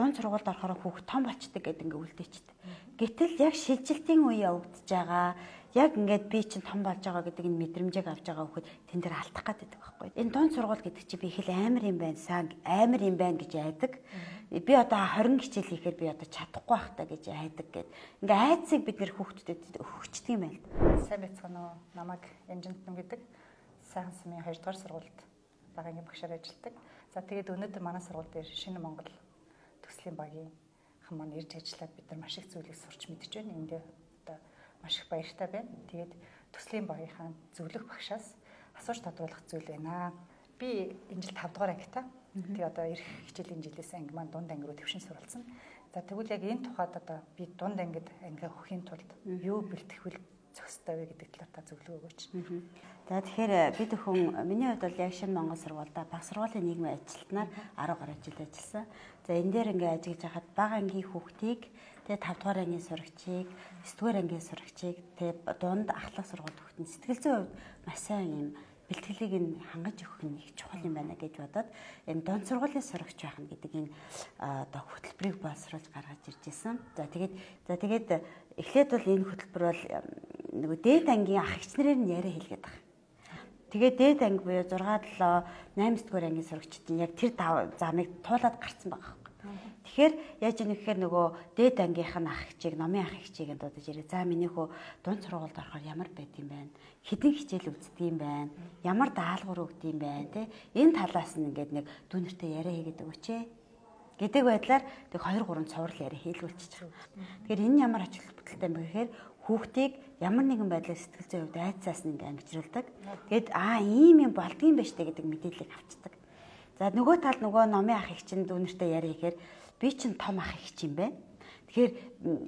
дунд сургуульд орохоор хүүхд том болчдөг гэдэг ингээ үлдээчихдээ. Гэтэл яг шилжилтийн үе явагдаж байгаа, яг ингээд би чинь том болж байгаа гэдэг энэ мэдрэмжийг авч байгаа хүүхэд тэн дээр алдах гэдэг байхгүй. Энэ дунд сургууль гэдэг чинь би их л амар юм байна, сайн амар юм байна гэж айдаг. Би одоо 20 хичээл хийхээр би одоо чадахгүй байх та гэж айдаг гэд. Ингээ айцыг бид нэр хүүхдүүдэд өгчдөг юм байна. Сайн байцгаана уу? Намайг Янжинтэн гэдэг сайхан сумын 2 дугаар сургуульд багийн багшаар ажилладаг. За тэгээд өнөөдөр манай сургууль дээр Шинэ Монгол төслийн багийн маань ирж ажиллаад бид нар маш их зүйлийг сурч мэдж байна. Эндээ одоо маш их баяртай байна. Тэгээд төслийн багийнхаа зөвлөх багшаас асууж тодруулах зүйл байна. Би энэ жил 5 дугаар ангитай. Тэгээд одоо ирэх хичээлийн жилээс анги маань дунд анги руу төвшин суралцсан. За тэгвэл яг энэ тухайд одоо би дунд ангид анги хөхийн тулд юу бэлтгэх зохистой вэ гэдэг талаар та зөвлөгөө өгөөч. За тэгэхээр бид хүн миний хувьд бол яг Шинэ Монгол сургуульда баг сургуулийн нийгмийн ажилтнаар 10 гаруй жил ажилласан. За энэ дээр ингээ ажиллаж байхад бага ангийн хүүхдийг тэгээ 5 дугаар ангийн сурагчийг, 9 дугаар ангийн сурагчийг тэгээ дунд ахлах сургууль хүүхдийн сэтгэл зүйн хувьд маш сайн юм бэлтгэлийг нь хангаж өгөх нь их чухал юм байна гэж бодоод энэ дунд сургуулийн сурагч байх нь гэдэг энэ одоо хөтөлбөрийг боловсруулж гаргаж ирж исэн. За тэгээд эхлээд бол энэ хөтөлбөр бол нөгөө дээд ангийн ах эгч нарын яриа хэлгээд байгаа. Тэгээд дээд анги буюу 6 7 8 дугаар ангийн сурагчдын яг тэр замыг туулаад гарцсан байгаа. Тэгэхээр яаж ийм гэхээр нөгөө дээд ангийнх нь ах эгчийг, номын ах эгчийг дуудаж ирээ. За миний хөө дунд сургуульд орохоор ямар байд юм бэ? Хэдэн хичээл үздэг юм бэ? Ямар даалгавар өгд юм бэ? Тэ энэ талаас нь ингээд нэг дүүнэртэй яриа хийгээд өгөөч ээ. Гэдэг байдлаар тэг 2 3 цуврал яриа хийлгүүлчих. Тэгэхээр энэ ямар ач холбогдолтой юм бэ гэхээр хүүхдийг ямар нэгэн байдлаар сэтгэл зүйн хувьд айцаас нь ингээд ангижруулдаг. Тэгэд ийм юм болдгийм байж таа гэдэг мэдээллийг авчдаг. За нөгөө талд нөгөө номын ах эгч нь дүүнэртэй яриа хийхээр би чинь том ах эгч юм бэ. Тэгэхээр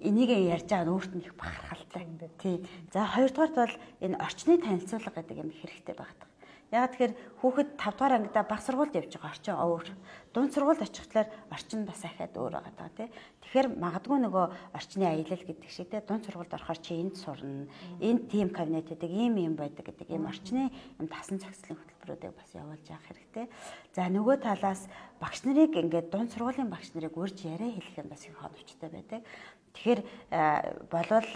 энийг ярьж байгаа нь өөрт нь их бахархалтай юм байна. Тий. За хоёрдугаарт бол энэ орчны танилцуулга гэдэг юм хэрэгтэй багтдаг. Яг тэгэхээр хүүхэд 5 дугаар ангидаа баг сургуульд явж байгаа орчин өөр. Дунд сургуульд очихлаар орчин бас ахаад өөр байгаа тий. Тэгэхээр магадгүй нөгөө орчны аялал гэдэг шиг тий дунд сургуульд орохоор чи энд сурна. Энд тим кабинет гэдэг ийм юм байдаг гэдэг ийм орчны юм тасан цагслын хөтөлбөрүүдийг бас явуулж явах хэрэгтэй. За нөгөө талаас багш нарыг ингээд дунд сургуулийн багш нарыг урьж яриа хэлэх юм бас их хоногчтой байдаг. Тэгэхээр болвол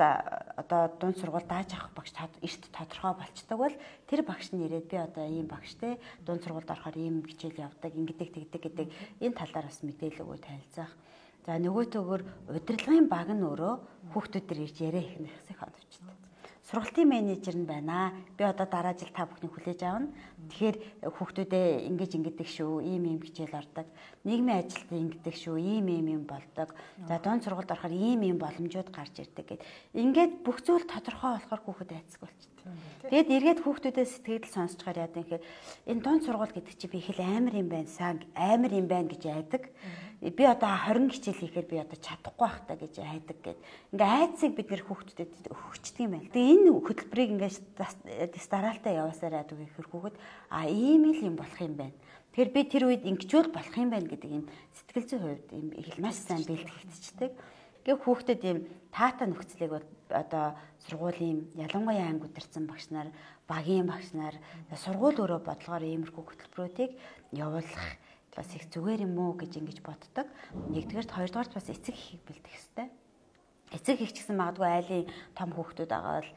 одоо дунд сургууль дааж авах багш эрт тодорхой болцдог бол тэр багш нь ирээд би одоо ийм багштэй дунд сургуульд орохоор ийм хичээл явдаг, ингэдэг тэгдэг гэдэг энэ талаар бас мэдээлэл өгөө танилцах. За нөгөөтөөгөр удирдлагын баг нь өөрөө хүүхдүүдээр ирж яриа хийх нь их хоногчтой. Сургалтын менежер нь байна. Би одоо дараа жил та бүхнийг хүлээж авна. Тэгэхээр хүүхдүүдээ ингэдэг шүү, ийм хичээл ордог. Нийгмийн ажилтнаа ингэдэг шүү, ийм болдог. За дунд сургуульд орохоор ийм боломжууд гарч ирдэг гэд. Ингээд бүх зүйл тодорхой болохоор хүүхэд айцдаг болчихсон. Тэгээд эргээд хүүхдүүдээ сэтгэл сонсчгаар яадаг юм гэхээр энэ дунд сургууль гэдэг чинь би их л амар юм байна, сайн амар юм байна гэж айдаг. Би одоо 20 хичээл хийхээр би одоо чадахгүй байх та гэж айдаг гэд. Ингээ айцыг бид нэр хүүхдүүдэд өгчдөг юм байна. Тэгээ энэ хөтөлбөрийг ингээ дараалтаа яваасаар яадаг гэхээр хүүхэд ийм л юм болох юм байна. Тэгэхээр би тэр үед ингэчүүл болох юм байна гэдэг юм сэтгэл зүйн хувьд юм их маш сайн бэлтгэгдчихдэг. Гэвь хүүхдэд ийм таатай нөхцөлийг одоо сургуулийн ялангуяа анги удирдсан багш нар, багийн багш нар, сургууль өөрөө бодлогоор иймэрхүү хөтөлбөрүүдийг явуулах бас их зүгээр юм уу гэж ингэж боддог. Нэгдүгээрт хоёрдугаарт бас эцэг эхийг бэлдэх хэрэгтэй. Эцэг их ч гэсэн магадгүй айлын том хүүхдүүд байгаа бол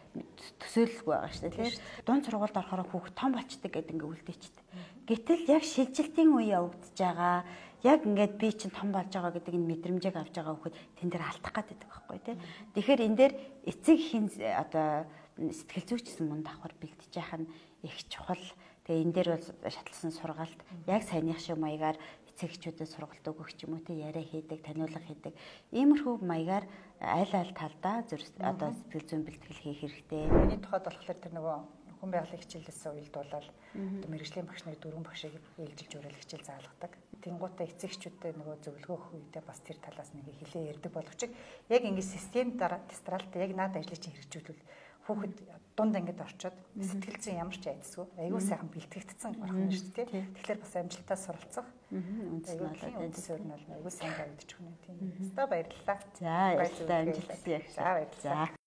төсөөлөлгүй байгаа шүү дээ тийм. Дунд сургуульд орохоор хүүхд том болчдөг гэдэг ингээ үлдээчихдээ. Гэтэл яг шилжилтийн үе явагдаж байгаа, яг ингээд би чинь том болж байгаа гэдэг энэ мэдрэмжийг авч байгаа хүүхэд тэн дээр алдах гэдэг байхгүй тийм. Тэгэхээр энэ дээр эцэг эхийн одоо сэтгэл зүйч гэсэн мөн давхар бэлтэж яах нь их чухал. Тэгээ энэ дээр бол шатлсан сургаалт яг саяных шиг маягаар эцэгчүүдэд сургалт өгөх ч юм уу те яриа хийдэг, таниулга хийдэг. Иймэрхүү маягаар аль талдаа одоо сэтгэл зүйн бэлтгэл хийх хэрэгтэй. Миний тухайд болохоор тэр нөгөө хүн байгалийн хичээлээс уялдуулаад одоо мэрэгжлийн багш нарыг 4 багшийг үйлчилж уриал хичээл заалгадаг. Тэнгуутаа эцэгчүүдэд нөгөө зөвлөгөө өгөх үедээ бас тэр талаас нэг хэлээ ярьдаг боловч яг ингэ систем тестралтай яг наад ажлыг чинь хэрэгжүүлвэл хүүхэд дунд ангид орчоод сэтгэл зүйн ямар ч айдасгүй айгүй сайхан бэлтгэгдсэн орхон нь шүү дээ. Тэгэхээр бас амжилтаа суралцах. Үндсээр нь айгүй сайн тавьдчих хүн тийм. Өстой баярлалаа. За баярлалаа амжилт хүсье. За баярлалаа.